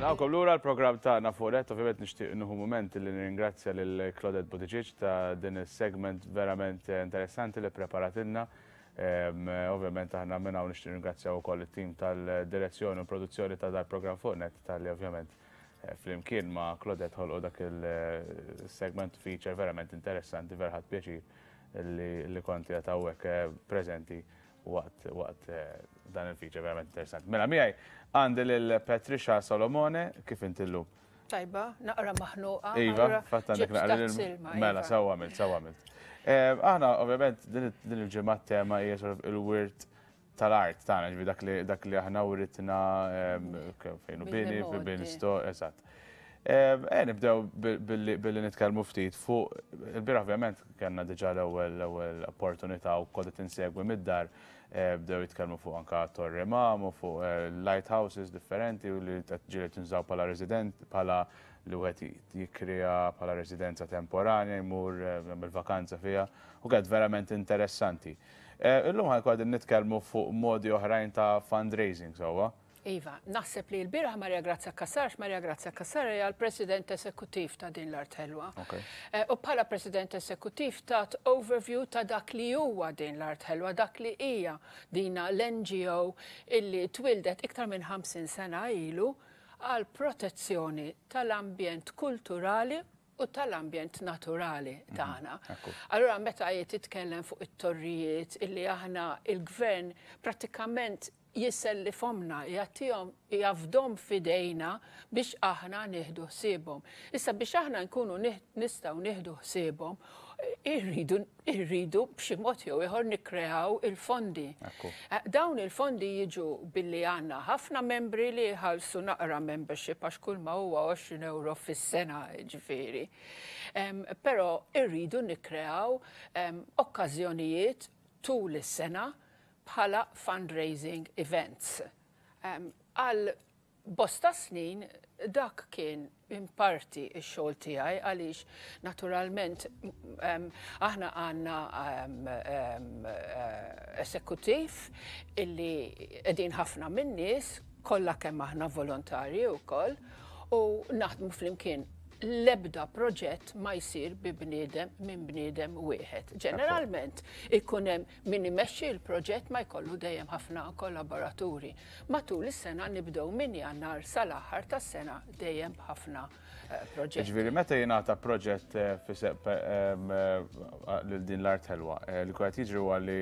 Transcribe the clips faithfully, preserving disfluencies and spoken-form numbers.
Nilqgħukom lura l-programm tagħna fuq Net. Ovvjament nixtieq nieħu mument li nirringrazzja lil Claudette Buttigieg ta' din is-segment verament interessanti li preparatilna. Ovvjament aħna minn hawn nixtieq nirringrazzjaw ukoll it-tim tal-direzzjoni u produzzjoni ta' dal-programm fuq Net talli ovvjament eh, flimkien ma' Claudette ħolqu dak il-segment feature verament interessanti. Vera ħadt pjaċir li konti hawnhekk eh, preżenti waqt waqt eh, dan il-feature verament interessanti. Mela miegħi għandi lil Patricia Solomone. Kif inti llum? Tajba, naqra maħnuqa. Iva, fatt għandek naqra. Mela, sewwa għamilt, sewwa għamilt. Eh, aħna, ovvjament, din il-ġimgħa tema hija il-wirt tal-art tagħna, ġifieri dak li dak li aħna writna fejn hu bini, bini sto, eżatt. Eh, nibdew billi nitkellmu ftit fuq il-bieraħ. Ovvjament kellna diġà l-ewwel l-ewwel opportunità u kont insegwi mid-dar, eh, bdew jitkellmu fuq anka Torri Mam u fuq eh, lighthouses differenti u li ġieli tinżaw bħala resident, bħala li wieħed jikriha bħala residenza temporanja, jmur jagħmel vakanza fiha, u kienet verament interessanti. Illum ħa nkunu nitkellmu fuq modi oħrajn ta' fundraising, sewwa? Iva, naħseb li l-bieraħ Maria Grazia Cassar, Maria Grazia Cassar hija l-President Esekuttiv ta' Din l-Art Ħelwa. Eh, u bħala President Esekuttiv tat overview ta' dak li huwa Din l-Art Ħelwa, dak li hija dina l-N G O illi twildet iktar minn ħamsin sena ilu għal protezzjoni tal-ambjent kulturali u tal-ambjent naturali mhm, tagħna. Allura meta qed titkellem fuq it-torrijiet illi aħna il-gvern prattikament jissellifhomlna, jagħtihom, jafdahom f'idejna biex aħna nieħdu ħsiebhom. Issa biex aħna nkunu nistgħu nieħdu ħsiebhom, irridu irridu b'xi mod jew ieħor nikkreaw il-fondi. Eh, dawn il-fondi jiġu billi għandna ħafna membri li jħallsu naqra membership, għax kull ma huwa għoxrin euro fis-sena ġifieri. Però irridu nikkreaw okkażjonijiet tul is-sena bħala fundraising events. Għal bosta snin dak kien in parti x-xogħol tiegħi, għaliex naturalment aħna għandna esekuttiv illi qegħdin ħafna minn nies, kollha kemm aħna volontarji wkoll u naħdmu flimkien. L-ebda proġett ma jsir bi bniedem minn bniedem wieħed. Ġeneralment ikun hemm min imexxi l-proġett, ma jkollu dejjem ħafna kollaboraturi. Matul is-sena nibdew minn Jannar sal-aħħar tas-sena dejjem ħafna eh, proġetti. Ġifieri meta jingħata proġett eh, eh, lil Din l-Art Ħelwa, li qed jiġri huwa li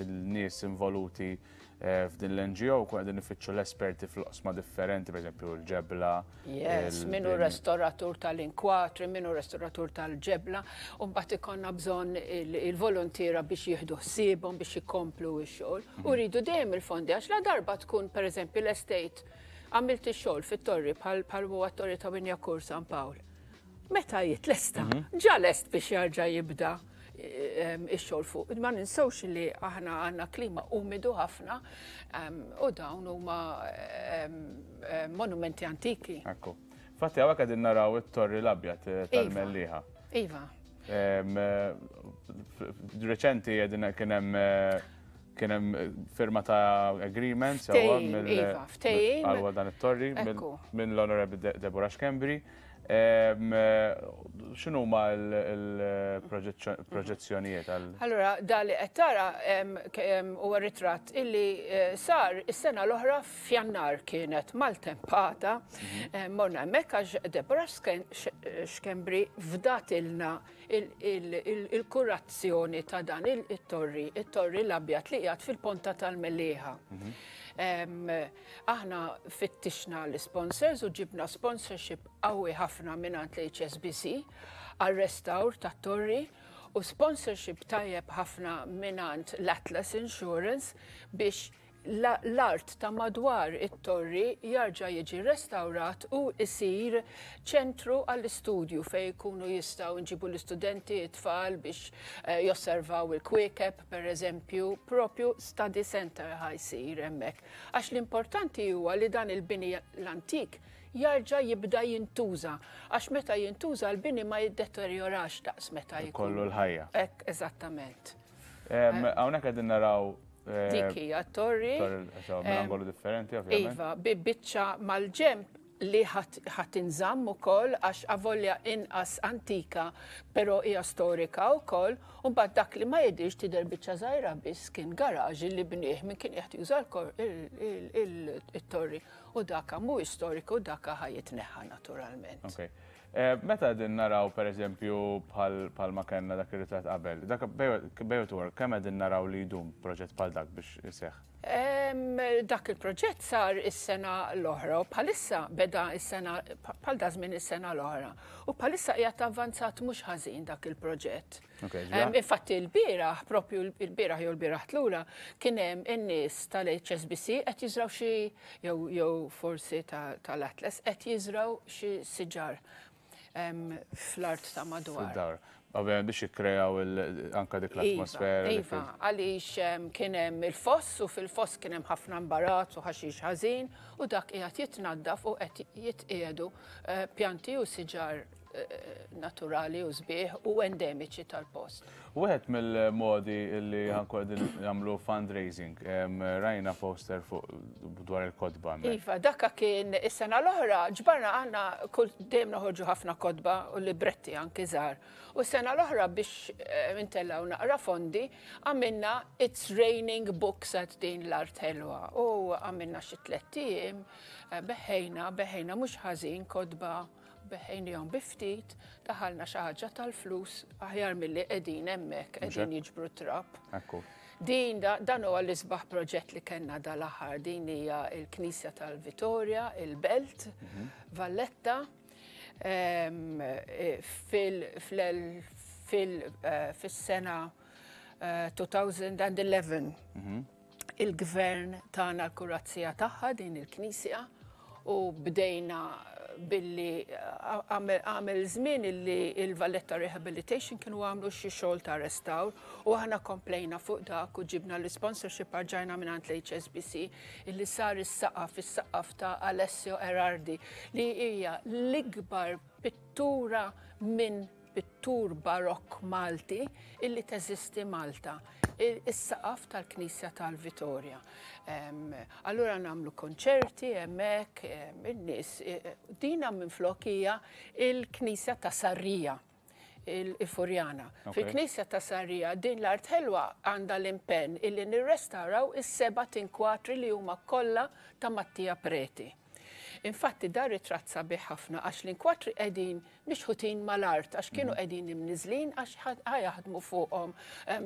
l-nies involuti f'din l-N G O kun qegħdin ifittxu l-esperti fl-oqsma differenti, per eżempju l-ġebla. Yes, min hu restoratur tal-inkwatri, min hu restoratur tal-ġebla, u mbagħad ikollna bżonn il-volontiera biex jieħdu ħsiebhom, biex ikomplu x-xogħol. U rridu dejjem il-fondi, għax la darba tkun pereżempju l-estate, għamilt ix-xogħol fit-torri bħal huwa t-torri ta' Wignacourt San Pawl. Meta jitlesta, mhm. ġa lest biex jarġa' jibda ix-xogħol fuq. Ma ninsewx li aħna għandna klima umidu ħafna u dawn huma monumenti antiki. Ekku. Fatti hawnhekk qegħdin naraw it-Torri l-Abjad eh, tal-Mellieħa. Iva. Reċenti qegħdin kien hemm eh, kien hemm firma ta' agreement sewwa Iva, ftehim. Għal dan it-torri minn l-Honorable Deborah Schembri. X'inhu ma l-proġezzjonijiet għal? Allora, da li qed tara huwa ritratt illi eh, sar is-sena l-oħra f'Jannar, kienet maltempata. Mhm. Morna hemmhekk għax Deborah Schembri fdatilna il-kurazzjoni ta' dan il-torri, il-Torri l-Abjad li qiegħed fil-Ponta tal-Mellieħa. Mhm. Aħna fittixna l-sponsors u ġibna sponsorship qawwi ħafna mingħand l-H S B C għal-restawr tat-torri u sponsorship tajjeb ħafna mingħand l-Atlas Insurance biex l-art ta' madwar it-torri jarġa' jiġi restawrat u isir ċentru għall-istudju fej jkunu jistgħu nġibu l-istudenti, it-tfal biex eh, josservaw il-kwiekeb, per eżempju, propju study center ħa jsir hemmhekk. Għax l-importanti huwa li dan il-bini l-antik jarġa' jibda jintuża. Għax meta jintuża l-bini ma jiddeterjorax daqs meta jkun. Kollu l-ħajja. Ek, eżattament. Hawnhekk qegħdin naraw eh, Dik hija torri. Torri minn angolu differenti, ovvjament. Iva, bi biċċa mal-ġemp. li ħa tinżamm ukoll għax avolja inqas antika, però hija storika wkoll, u mbagħad dak li ma jidhirx tidher biċċa żgħira biss kien garaġ li bnieh min kien qed juża il-torri u daka mhuwiex storiku, daka ħa jitneħħa naturalment. Okay. Meta din naraw per eżempju bħal ma kellna dak ir-ritratt qabel, dak bejwet work, kemm qegħdin naraw li jdum proġett bħal dak biex iseħħ? Dak il-proġett sar is-sena l-oħra u bħalissa beda is-sena bħal da żmien is-sena l-oħra. U bħalissa qiegħed avvanzat mhux ħażin dak il-proġett. Infatti l-bieraħ, propju l-bieraħ jew l-bieraħ tlura, kien hemm in-nies tal-H S B C qed jiżraw xi jew forsi tal-Atlas qed jiżraw xi siġar fl-art ta' madwar. Ovvijament biex jikkrejaw anka dik l-atmosfera. Iva, għaliex kien hemm il-foss u fil-foss kien hemm ħafna imbarazz u ħaxix ħażin u dak qiegħed jitnaddaf u qed jitqiegħdu pjanti u siġar naturali u sbieħ u endemiċi tal-post. Wieħed mill-modi li ħankun qegħdin jagħmlu fundraising, rajna poster fuq dwar il-kotba. Iva, dakka kien is-sena l-oħra, ġbarna għandna kull dejjem noħorġu ħafna kotba u libretti anki żgħar. U s-sena l-oħra biex intellgħu naqra fondi, għamilna It's Raining Books at din l-Art Ħelwa. U għamilna xi tlett ijiem, beħejna, beħejna mhux ħażin kotba, beħejnihom bi ftit, daħalna xi ħaġa tal-flus aħjar milli qegħdin hemmhekk qegħdin jiġbru trab. Din dan huwa l-isbaħ proġett li kellna dal-aħħar, din hija l-Knisja tal-Vitorja, il-Belt, Valletta, fis-sena two thousand and eleven il-gvern tagħna l-kurazzija tagħha din il-Knisja u bdejna billi għamel żmien illi il-Valletta Rehabilitation kienu għamlu xi xogħol ta' restawr u aħna komplejna fuq dak u ġibna l-sponsorship arġajna mingħand l-H S B C illi sar is-saqaf, is-saqaf ta' Alessio Erardi li hija l-ikbar pittura minn pittur barokk Malti illi teżisti Malta, is-saqaf tal-Knisja tal-Vitorja. Allura nagħmlu konċerti hemmhekk, in-nies. Dina minflok hija il-Knisja ta' Sarrija, il-Furjana. Fil-Knisja ta' Sarrija din l-Art Ħelwa għandha l-impenn illi nirrestawraw is-seba' tinkwatri li huma kollha ta' Mattia Preti. Infatti dar ritratt sabiħ ħafna għax l-inkwatri qegħdin mixħutin mal-art għax kienu qegħdin imniżlin għax ħajaħdmu fuqhom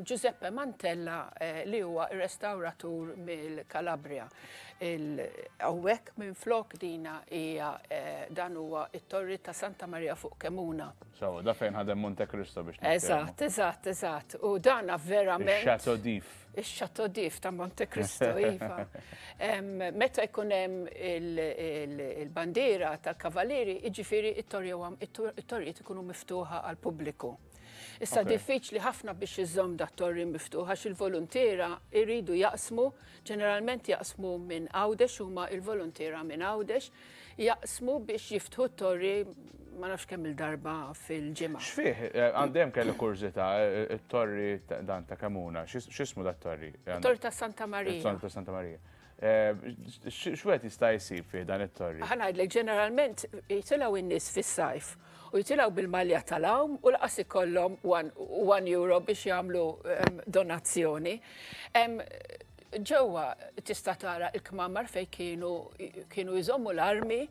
Giuseppe Mantella li huwa r-restawratur mill-Kalabria. Hawnhekk minflok dina hija dan huwa it-torri ta' Santa Maria fuq Kemuna. So, da fejn ħadem Monte Cristo biex nitkellmu. Eżatt, eżatt, eżatt. U dana verament. Ix-Chateau d'If. Ix-Chateau d'If ta' Monte Cristo, iva. Meta jkun hemm il-bandiera tal-Kavalieri, jiġifieri it-torrijiet ikunu miftuħa għall-pubbliku. Issa diffiċli ħafna biex iżżomm dat torri miftuħ għax il-voluntiera jridu jaqsmu, ġeneralment jaqsmu minn Għawdex, huma il-voluntiera minn Għawdex, jaqsmu biex jiftħu t-torri ma nafx kemm il-darba fil-ġimgħa. X'fih, għandem kelli kurżità, it-torri dan ta' Kemuna, x'ismu dat torri? Torri ta' Santa Maria. Torri ta' Santa Maria. X'wieħed jista' jsib fih dan it-torri? Ħa ngħidlek, ġeneralment jitilgħu in-nies fis-sajf u jitilgħu bil-malja tal-għawm u laqas ikollhom one euro biex jagħmlu donazzjoni. Ġewwa tista' tara l-kmamar fejn kienu kienu jżommu l-armi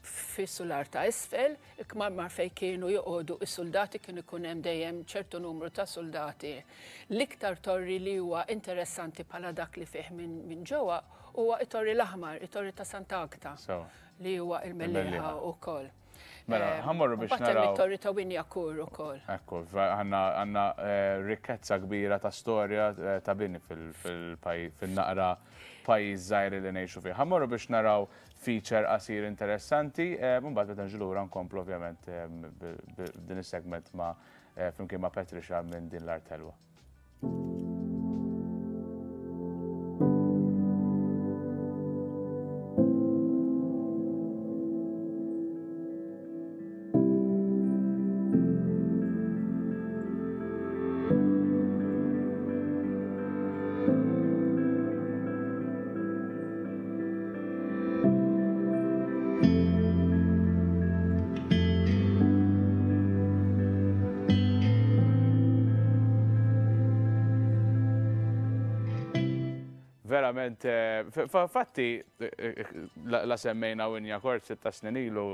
fis-sular ta' isfel, il-kmamar fejn kienu joqogħdu is-soldati, kienu jkun hemm dejjem ċertu numru ta' soldati. L-iktar torri li huwa interessanti bħala dak li fih minn ġewwa huwa it-torri l-aħmar, it-torri ta' Sant'Agta, li huwa il-Mellieħa wkoll. Mela, ħammorru biex naraw. It-torri ta' Winjakur ukoll. Ekku, għandna rikkezza kbira ta' storja ta' bini fil-naqra pajjiż żgħir li ngħixu fih. Ħammorru biex naraw feature qasir interessanti, mbagħad meta nġu lura nkomplu ovvjament din is-segment ma' flimkien ma' Patricia minn din l-Art Ħelwa. Verament, eh, fatti, eh, la semmejna Wignacourt sitta snin ilu,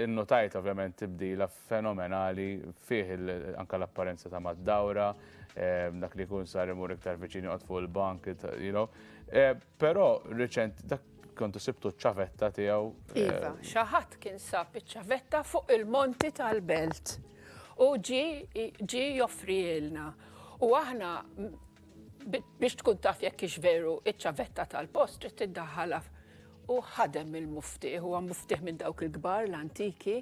notajt ovvjament tibdila fenomenali fih anka l-apparenza ta' mad-dawra, dak li kun sar imur iktar viċini joqgħod fuq il-bank, you know. Però reċent, dak kontu sibtu ċavetta tiegħu. Iva, xi ħadd kien sab iċ-ċavetta fuq il-monti tal-Belt u ġi ġi joffrihielna. U aħna biex tkun taf jekk hix veru iċ-ċavetta tal-post trid tiddaħħalha u ħadem il-muftieħ, huwa muftieħ minn dawk il-kbar l-antiki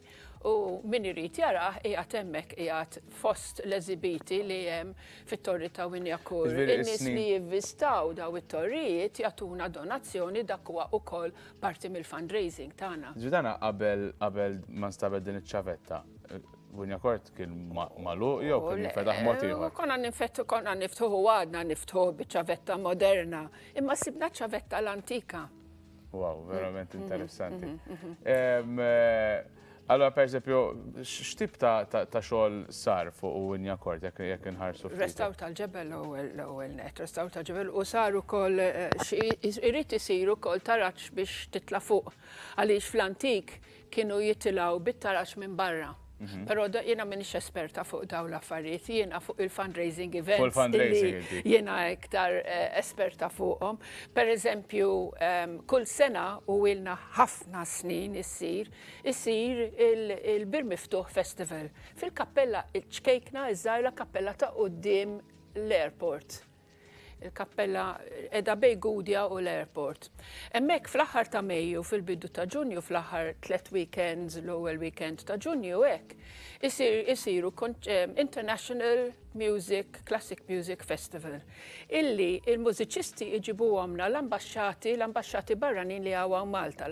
u min irid jarah qiegħed hemmhekk qiegħed fost l-eżibiti li hemm fit-torri ta' Wignacourt. In-nies li jivvistaw daw it-torrijiet jagħtuna donazzjoni, dak huwa wkoll parti mill-fundraising tagħna. Ġudana qabel qabel ma nstabet din iċ-ċavetta, Wignacourt kien magħluq jew kien jinfetaħ mod ieħor? Konna ninfettu, konna niftħuh, għadna niftħuh biċ-ċavetta moderna, imma sibna ċavetta l-antika. Wow, verament interessanti. Allora, per esempio, x'tip ta' xogħol sar fuq Wignacourt jekk jekk inħarsu ftit? Restawr tal-ġebel l-ewwel net, restawr tal-ġebel u sar ukoll irid isir ukoll taraġ biex titla' fuq. Għaliex fl-antik kienu jitilgħu bit-taraġ minn barra. Però jiena m'iniex esperta fuq dawn l-affarijiet, jiena fuq il-fundraising events. Jiena iktar esperta fuqhom. Per eżempju, kull sena u ilna ħafna snin issir, issir il-Bir Miftuħ Festival. Fil-kappella ċkejkna, iż-żgħira kappella ta' quddiem l-airport. Il-kappella edha bejn Gudja u l-airport. Hemmhekk fl-aħħar ta' Mejju, fil-bidu ta' Ġunju, fl-aħħar tlet weekends, l-ewwel weekend ta' Ġunju hekk, isiru International Music, Classic Music Festival, illi il-mużiċisti iġibuhomna l-ambasċati, l-ambasċati barranin li hawn Malta.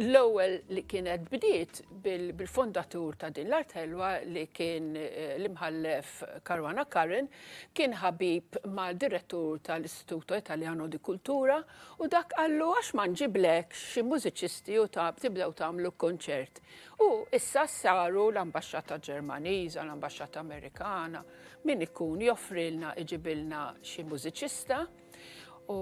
L-ewwel li kienet bdiet bil-fondatur ta' din l-art ħelwa li kien l-imħallef Caruana Curran, kien ħabib mal-direttur tal-Istituto Italiano di Cultura u dak qallu għax ma nġiblek xi mużiċisti u tibdew tagħmlu konċert. U issa saru l-ambasċata Ġermaniża, l-ambasċata Amerikana, min ikun joffrilna iġibilna xi mużiċista u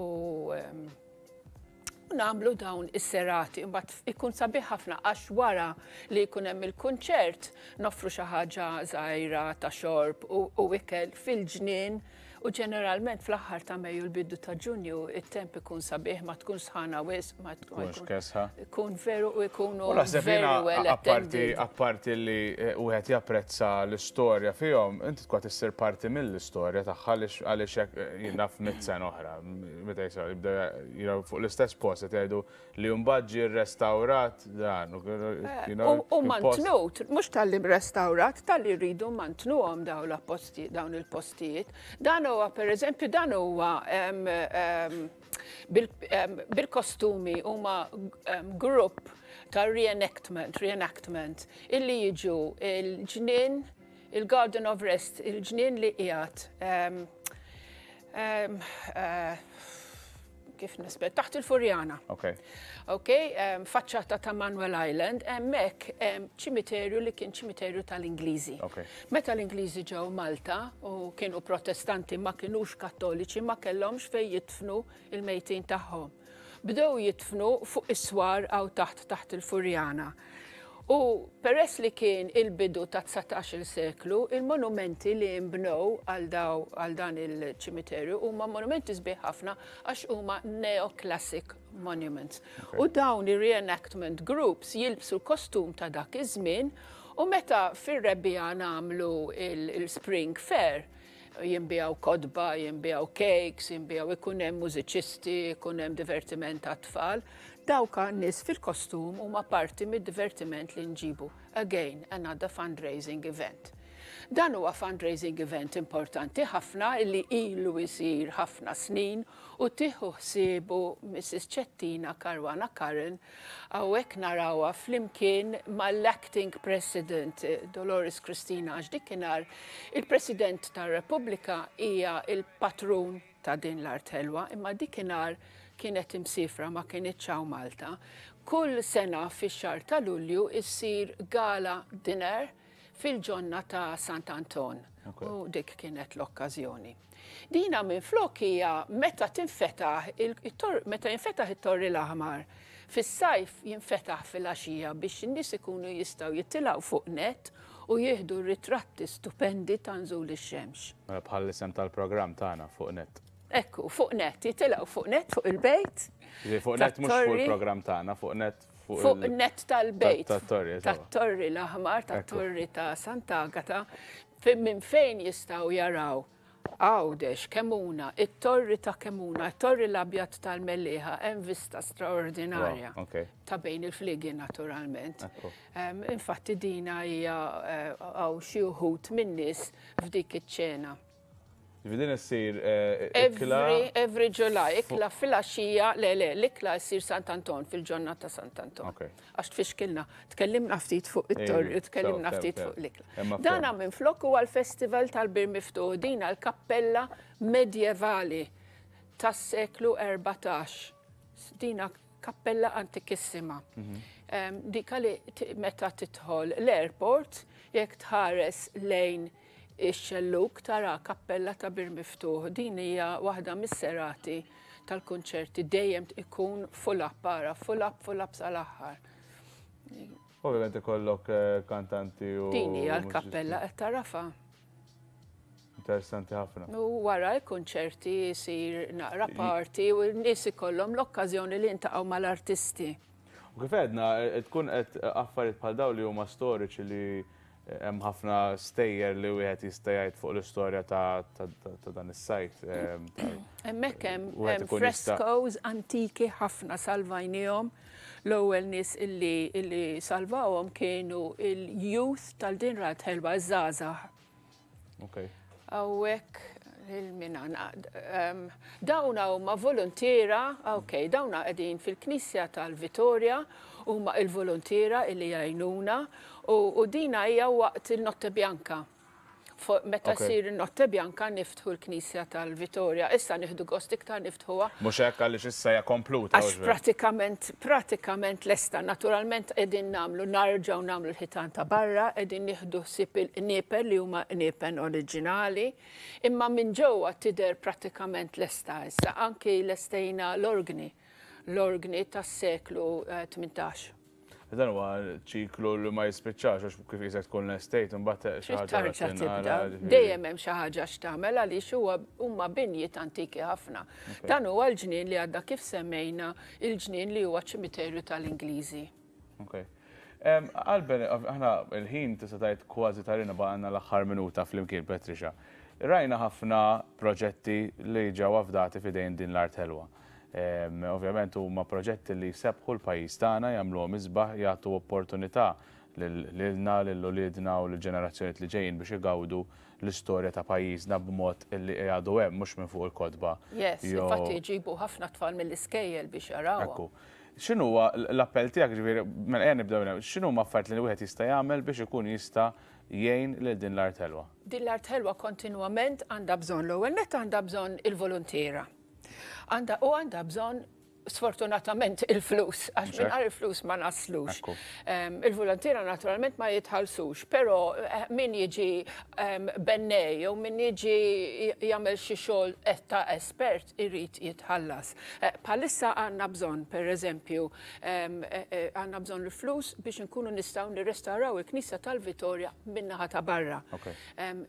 nagħmlu dawn is-serati. Imbagħad ikun sabiħ ħafna għax wara li jkun hemm il-kunċert noffru xi ħaġa żgħira ta' xorb u ikel fil-ġnien. U ġeneralment fl-aħħar ta' Mejju, l-bidu ta' Ġunju, it-temp ikun sabiħ, ma tkun sħana wisq, ma tkunx kesħa. Ikun veru u ikunu very well attended. Apparti li wieħed japprezza l-istorja fihom, inti tkun issir parti mill-istorja tagħha għaliex hekk jien naf mitt sena oħra, meta jsir jibda fuq l-istess post qed jgħidu li mbagħad ġie rrestawrat dan. U mantnut, mhux talli restawrat, talli rridu mantnuhom dawn il-postijiet. Dan huwa per eżempju, dan huwa bil-kostumi huma grupp ta' reenactment, reenactment illi jiġu il-ġnien, il-Garden of Rest, il-ġnien li qiegħed kif nisbet, taħt il-Furjana. Ok. Ok, faċċata ta' Manuel Island, hemmhekk ċimiterju li kien ċimiterju tal-Ingliżi. Meta l-Ingliżi ġew Malta u kienu protestanti ma kienux kattoliċi, ma kellhomx fejn jitfnu il-mejtin tagħhom. Bdew jitfnu fuq is-swar għaw taħt taħt il-Furjana. U peress li kien il-bidu ta' dsatax-il seklu, il-monumenti li nbnew għal dan il-ċimiterju huma monumenti sbieħ ħafna għax huma neoclassic monuments. U dawn ir-reenactment groups jilbsu l-kostum ta' dak iż-żmien u meta fir-rebbiegħa nagħmlu il-Spring Fair, jinbiegħu kotba, jinbiegħu cakes, jinbiegħu, ikun hemm mużiċisti, ikun hemm divertiment għat-tfal. Dawk nies fil-kostum huma parti mid-divertiment li nġibu. Again, another fundraising event. Dan huwa fundraising event importanti ħafna li ilu jsir ħafna snin u tieħu ħsiebu Missus Ċettina Caruana Curran, hawnhekk narawha flimkien mal-acting president Dolores Cristina, għax dikinhar il-President tar-Repubblika hija il-patrun ta' din l-art ħelwa, imma dikinhar kienet imsifra ma kienitx hawn Malta. Kull sena fix-xahar ta' Lulju issir gala dinner fil-ġonna ta' Sant'Anton. U dik kienet l-okkażjoni. Dina minn flok hija meta tinfetaħ meta jinfetaħ it-Torri l-Aħmar. Fis-sajf jinfetaħ fil-għaxija biex in-nies ikunu jistgħu jitilgħu fuq net u jieħdu ritratti stupendi ta' nżul ix-xemx. Mela bħal isem tal-programm tagħna fuq net. Ekku, fuq net, jitilgħu fuq net fuq il-bejt. Fuq net mhux fuq il-programm tagħna, fuq net fuq net tal-bejt. Tat-torri. Tat-Torri l-Aħmar, tat-Torri ta' Sant'Agata, minn fejn jistgħu jaraw Għawdex, Kemuna, it-Torri ta' Kemuna, it-Torri l-Abjad tal-Mellieħa, hemm vista straordinarja. Ta' bejn il-fligi naturalment. Infatti dina hija għaw xi wħud min-nies f'dik iċ-ċena. Din issir ikla. Every July, ikla fil-għaxija, le le, l-ikla ssir Sant'Anton, fil-ġonna ta' Sant'Anton. Għax tfixkilna, tkellimna ftit fuq it-torri, tkellimna ftit fuq l-ikla. Dana minn flok huwa l-Festival tal-Bir Miftuħ, dina l-kappella medjevali tas-seklu erbatax. Dina kappella antikissima. Dika li meta tidħol l-airport, jekk tħares lejn ix-xelluk tara kappella ta' Bir Miftuħ. Din hija waħda mis-serati tal-kunċerti dejjem ikun full up, para, full up, full up sal-aħħar. Ovvjament ikollok kantanti u. Din hija l-kappella qed tarafa. Interessanti ħafna. U wara l-kunċerti jsir naqra party u n-nies ikollhom l-okkażjoni li jintaqgħu mal-artisti. U kif għedna, tkun qed affarijiet bħal dawn li huma storiċi li hemm ħafna stejjer li wieħed jista' jgħid fuq l-istorja ta' dan is-sajt. Hemmhekk hemm frescoes antiki ħafna salvajnihom. L-ewwel nies illi salvawhom kienu il-youth tal-din rat ħelwa żgħażagħ. Okay. Hawnhekk il-mina. Dawna huma volontiera, ok, dawna qegħdin fil-Knisja tal-Vitorja, huma il-volontiera illi jgħinuna u dina hija waqt il-Notte Bianca. Meta ssir il-Notte Bianca niftħu l-Knisja tal-Vitorja. Issa nieħdu gost iktar niftħuha. Mhux hekk għaliex issa hija kompluta. Għax pratikament, pratikament lesta. Naturalment qegħdin nagħmlu narġgħu nagħmlu l-ħitan ta' barra, qegħdin nieħdu ħsieb il-qniepen li huma qniepen oriġinali, imma minn ġewwa tidher pratikament lesta issa. Anki lestejna l-organi, l-organi tas-seklu tmintax. Dan huwa ċiklu li ma jispiċċax għax kif jisek tkun l-estate imbagħad xi ħaġa tarġa' tibda. Dejjem hemm xi ħaġa x'tagħmel għaliex huwa huma binjiet antiki ħafna. Dan huwa l-ġnien li għadda kif semmejna, il-ġnien li huwa ċimiterju tal-Ingliżi. Okay. Għalben, aħna il-ħin tista' tgħid kważi tarina baqgħna l-aħħar minuta flimkien Patricia. Rajna ħafna proġetti li ġew afdati f'idejn din l-art ħelwa. Ovvjament huma proġetti li jsebħu l-pajjiż tagħna, jagħmluhom isbaħ, jagħtu opportunità lilna, lil uliedna u lill-ġenerazzjonijiet li ġejjin biex igawdu l-istorja ta' pajjiżna b'mod li għadu hemm mhux minn fuq il-kotba. Yes, infatti jġibu ħafna tfal mill-iskejjel biex jarawha. Ekku. X'inhu huwa l-appell tiegħek, ġifieri, mela ejja nibdew minn hawn, x'inhu huma affarijiet li wieħed jista' jagħmel biex ikun jista' jgħin lil din l-art ħelwa? Din l-art ħelwa kontinwament għandha bżonn l-ewwel nett għandha bżonn il-volontiera. Għanda u għandha bżonn sfortunatament il-flus, għax mingħajr il-flus ma naslux. Il-volontiera naturalment ma jitħallsux, però min jiġi bennej jew min jiġi jagħmel xi xogħol ta' espert irid jitħallas. Bħalissa għandna bżonn, pereżempju, għandna bżonn il-flus biex nkunu nistgħu nirrestawraw il-Knisja tal-Vitorja min-naħa ta' barra.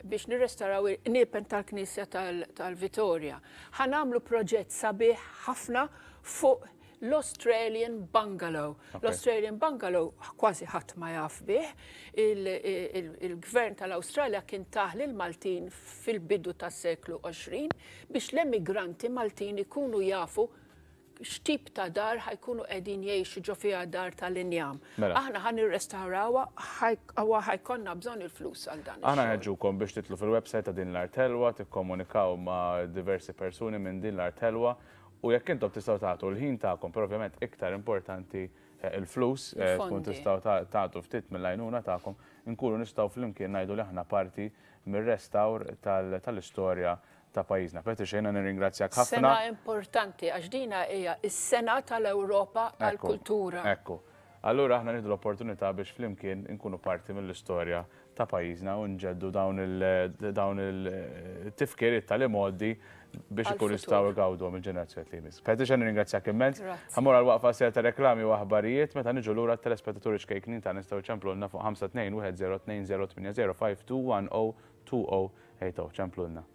Biex nirrestawraw il-qniepen tal-Knisja tal-Vitorja. Ħa nagħmlu proġett sabiħ ħafna fuq l-Australian Bungalow. L-Australian Bungalow kważi ħadd ma jaf bih. Il-gvern tal-Awstralja kien tah lill-Maltin fil-bidu tas-seklu għoxrin biex l-emigranti Maltin ikunu jafu x'tip ta' dar ħajkunu qegħdin jgħixu ġo fiha dar tal-injam. Aħna ħa nirrestawrawha, ħa jkollna bżonn il-flus għal dan. Aħna nħeġġukom biex titlu fil-website ta' din l-art ħelwa, tikkomunikaw ma' diversi persuni minn din l-art ħelwa. U jekk intom tistgħu tagħtu l-ħin tagħkom, però ovvjament iktar importanti il-flus, tkun tistgħu tagħtu ftit mill-għajnuna tagħkom, inkunu nistgħu flimkien ngħidu li aħna parti mir-restawr tal-istorja ta' pajjiżna. Patricia, jiena nirringrazzjak ħafna. Sena importanti għax dina hija s-sena tal-Ewropa għall-kultura. Ekku. Allura aħna nieħdu l-opportunità biex flimkien inkunu parti mill-istorja ta' pajjiżna u nġeddu dawn il-tifkiriet tal-imgħoddi biex ikun jistgħu jgawdu mill-ġenerazzjoni li jmiss. Patricia, nirringrazzjak immens. Ħa mmur għal waqfa ser ta' reklami u aħbarijiet. Meta niġu lura, telespettaturi ċkejknin ta' nistgħu ċemplulna fuq ħamsa tnejn wieħed żero tnejn żero tmienja żero five two one zero two zero eight zero. Ċemplulna.